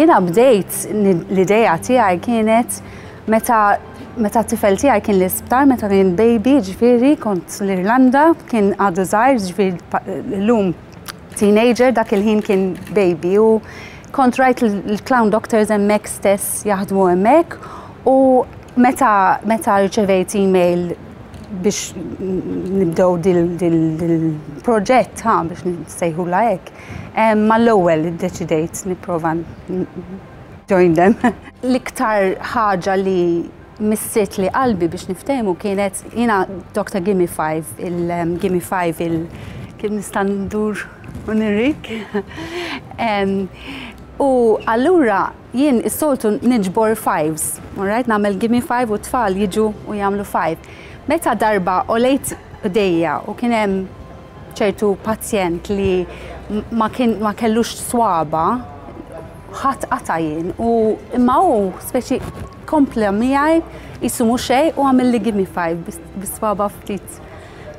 Jiena bdejt l-idea tiegħi kienet meta meta t-tifel tiegħi kien l-isptar, meta kien baby, ġifieri kont l-Irlanda, kien għadu żgħir, ġifieri llum teenager, dak il-ħin kien baby u kont rajt l-clown doctors hemmhekk stess jaħdmu hemmhekk u meta meta rċevejt email biex nibdew dil-proġett ha biex nsejħula hekk, mal-ewwel iddeċidejt nipprova join them. L-iktar ħaġa li missitli qalbi biex niftehmu kienet jiena Dr. Gimme 5, il-Gimme 5 il kif nista' ndur u nirik. U allura jien is-soltu niġbor fives, alright, nagħmel gimme 5 u t-tfal jiġu u jagħmlu 5. Meta darba għolejt bdejja u kien hemm ċertu pazjent li ma kien ma kellux swaba, ħadd qata' jien u imma hu speċi kompla miegħi qisu mhu xejn u għamilli gimme 5 bis-swaba ftit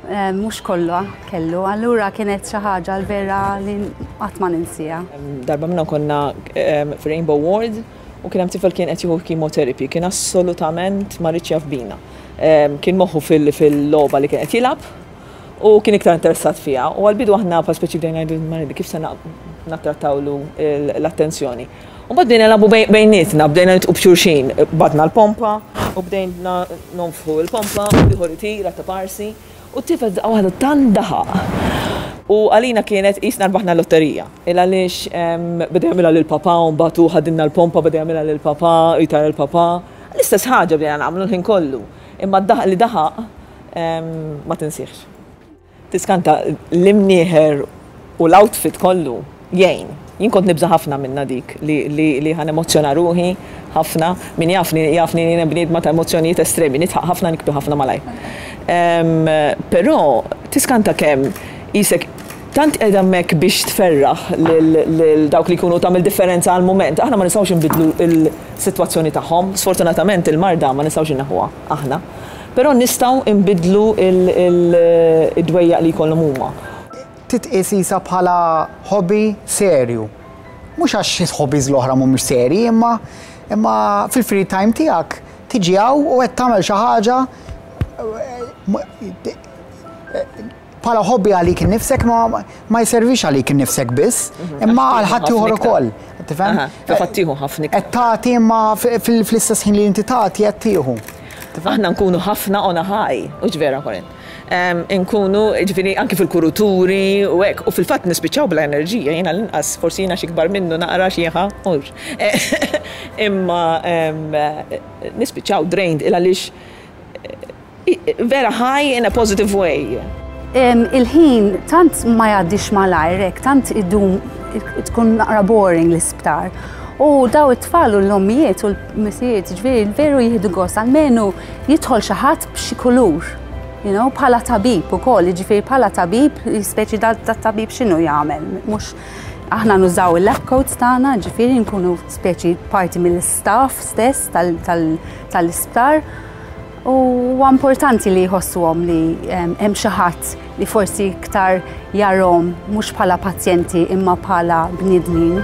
mhux kollha kellu. Allura kienet xi ħaġa l-vera li qatt ma ninsiha. Darba minnhom konna f'Rainbow Ward u kien hemm tifel kien qed jieħu chemotherapy, kien assolutament ma riedx jaf bina. Kien moħħu fil-logħba li kien qed jilgħab u kien iktar interessat fiha. U għall-bidu aħna bħal speċi bdejna ngħidu kif se nattrattawlu l-attenzjoni. U mbagħad bdejna nilagħbu bejnietna, bdejna nitqu b'xulxin, badna l-pompa u bdejna nonfħu l-pompa u l-ieħor itir għat parsi u t-tifel daqqa waħda tant daħaq. U għalina kienet qisna rbaħna l-lotterija. Il għaliex beda jagħmilha lil papà u mbagħad hu ħadilna l-pompa beda jagħmilha lil papà u jtara lil papà. L-istess ħaġa bdejna nagħmlu l-ħin kollu. Imma d-daħq li daħaq ma tinsihx. Tiskanta l-imnieħer u l-outfit kollu jgħin. Jien kont nibża' ħafna minnha dik li li ħa nemozzjona ruħi ħafna. Min jafni jafni li jiena bniedma ta' emozzjonijiet estremi, nidħaq ħafna nibki ħafna malajr. Però tiskanta kemm qisek tant qiegħda hemmhekk biex tferraħ lil dawk li jkunu tagħmel differenza għall-mument. Aħna ma nistgħux inbiddlu l-sitwazzjoni tagħhom. Sfortunatament il-marda ma nistgħux inneħħuha aħna. Però nistgħu nbiddlu d-dwejjaq li jkollhom huma. Titqies qisha bħala hobby serju. Mhux għax il-hobbies l-oħra mhumiex serji imma imma fil-free time tiegħek tiġi hawn u qed tagħmel xi ħaġa bħala hobby għalik innifsek ma ma jservix għalik innifsek biss, imma għal ħaddieħor ukoll. Tifhem? Fil-fatt tieħu ħafna iktar. Qed tagħti imma fl-istess ħin li inti tagħti qed tieħu. Aħna nkunu ħafna on a high, hux vera Corinne? Inkunu, jiġifieri anki fil-kuruturi u hekk, u fil-fatt nispiċċaw bla enerġija, jiena l-inqas, forsi jiena xi kbar minnu naqra xi ħa, hux. Imma nispiċċaw drained il għaliex vera high in a positive way. Il-ħin tant ma jgħaddix malajr hekk, tant idum tkun naqra boring l-isptar. U daw it-tfal u l-ommijiet u l-misijiet, ġifieri veru jieħdu gost, almenu jidħol xi ħadd b'xi kulur. You know, bħala tabib ukoll, jiġifieri bħala tabib, speċi da tabib x'inhu jagħmel, mhux aħna nużaw il-lab coats tagħna, ġifieri nkunu speċi parti mill-staff stess tal-isptar. U huwa importanti li jħossuhom li hemm xi ħadd li forsi iktar jarahom mhux bħala pazjenti imma bħala bniedmin.